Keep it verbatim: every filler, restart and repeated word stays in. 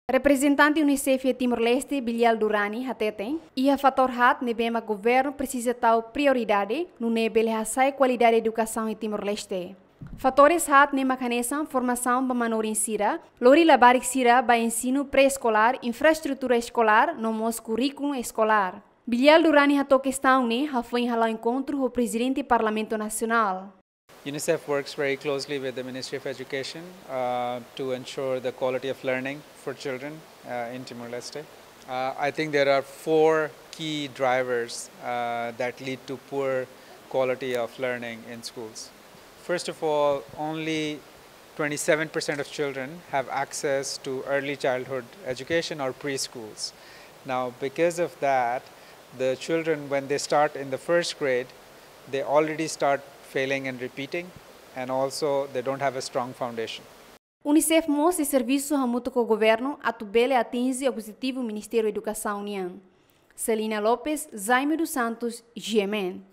Reprezentante UNICEF iha Timor-Leste, Bilial Durrani, hateten, iha fatór haat ne'ebé mak governu presiza tau prioridade, nune'e bele hasa'e kualidade edukasaun iha Timor-Leste. Fatores haat ne'e mak hanesan formasaun ba manorin sira, lori labarik sira ba ensinu pré-eskolár, infraestrutura eskolár, no mós kurríkulu eskolár. Bilial Durrani hato'o kestaun ne'e hafoin hala'o enkontru ho Prezidente Parlamentu Nasionál. UNICEF works very closely with the Ministry of Education, uh, to ensure the quality of learning for children, uh, in Timor-Leste. Uh, I think there are four key drivers, uh, that lead to poor quality of learning in schools. First of all, only twenty-seven percent of children have access to early childhood education or preschools. Now, because of that, the children, when they start in the first grade, they already start failing and repeating, and also they don't have a strong foundation. UNICEF mós sei servisu hamutuk ho governu atu bele atinje objetivu Ministériu Edukasaun nian. Celina Lopes, Jaime dos Santos, G M N.